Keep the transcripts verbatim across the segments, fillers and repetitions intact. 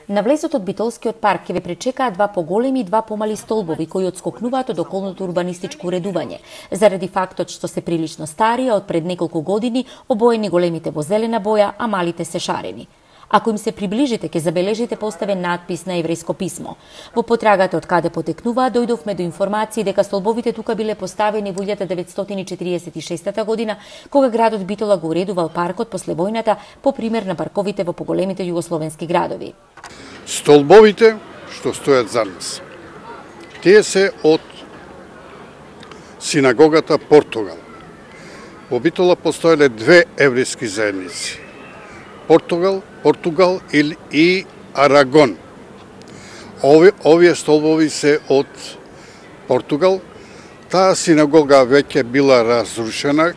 На влезот од Битолскиот парк ќе ве пречекаат два поголеми и два помали столбови кои отскокнуваат од околното урбанистичко уредување, заради фактот што се прилично стари, а од пред неколку години обоени големите во зелена боја, а малите се шарени. Ако им се приближите, ќе забележите поставен надпис на еврејско писмо. Во потрагата од каде потекнуваат, дојдовме до информации дека столбовите тука биле поставени во илјада деветстотини четириесет и шеста година, кога градот Битола го уредувал паркот после војната, по пример на парковите во поголемите југословенски градови. Столбовите што стојат за нас, тие се од синагогата Португал. Во Битола постоеле две еврејски заедници. Португал, Португал и Арагон. Ови, овие столбови се од Португал. Таа синагога веќе била разрушена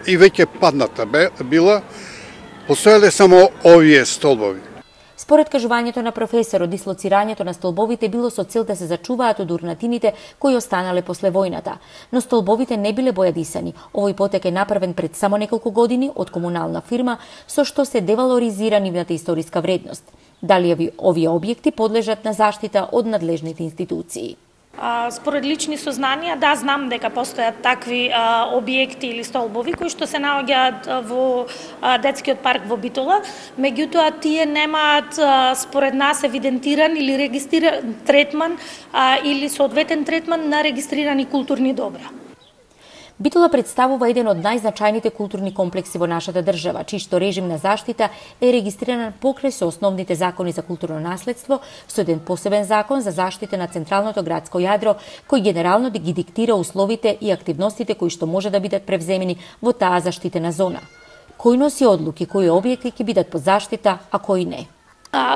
и веќе падната била. Постоеле само овие столбови. Според кажувањето на професорот, дислоцирањето на столбовите било со цел да се зачуваат од урнатините кои останале после војната. Но столбовите не биле бојадисани. Овој потек е направен пред само неколку години од комунална фирма, со што се девалоризира нивната историска вредност. Дали овие објекти подлежат на заштита од надлежните институции? Според лични сознанија, да, знам дека постојат такви а, објекти или столбови кои што се наоѓаат во а, детскиот парк во Битола, меѓутоа тие немаат а, според нас евидентиран или регистриран третман а, или соодветен третман на регистрирани културни добра. Битола представува еден од најзначајните културни комплекси во нашата држава, чиј режим на заштита е регистриран покрај со основните закони за културно наследство, со еден посебен закон за заштита на централното градско јадро, кој генерално ги диктира условите и активностите кои што може да бидат превземени во таа заштитена зона. Кој носи одлуки, кои објекти ќе бидат под заштита, а кои не?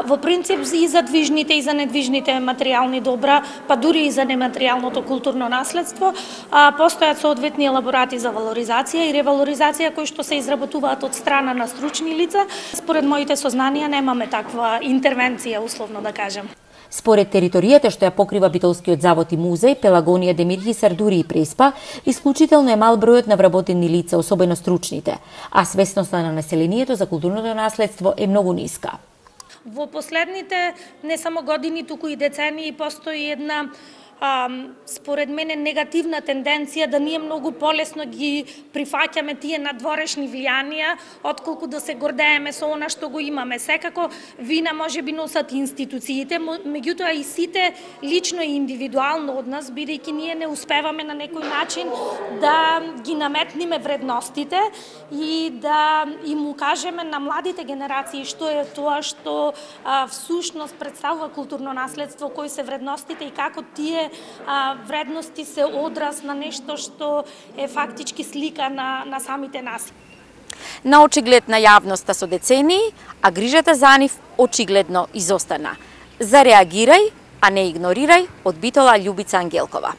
Во принцип и за движните и за недвижните материјални добра, па дури и за нематеријалното културно наследство, постојат соодветни елаборати за валоризација и ревалоризација кои што се изработуваат од страна на стручни лица. Според моите сознанија немаме таква интервенција, условно да кажем. Според територијата што ја покрива Битолскиот завод и музеј, Пелагонија, Демирхисар, дури и Преспа, исклучително е мал бројот на вработени лица, особено стручните, а свесноста на населението за културното наследство е многу ниска. Во последните не само години, туку и децении постои една а, според мене негативна тенденција да ние многу полесно ги прифаќаме тие надворешни влијанија отколку да се гордееме со она што го имаме. Секако вина може би носат институциите, меѓутоа и сите лично и индивидуално од нас, бидејќи ние не успеваме на некој начин да ги наметниме вредностите и да им укажеме на младите генерации што е тоа што а, всушност представува културно наследство, кои се вредностите и како тие а, вредности се одраз на нешто што е фактички слика на, на самите нас. На очиглед на јавноста со децении, а грижата за нив очигледно изостана. Зареагирај, а не игнорирај, од Битола Љубица Ангелкова.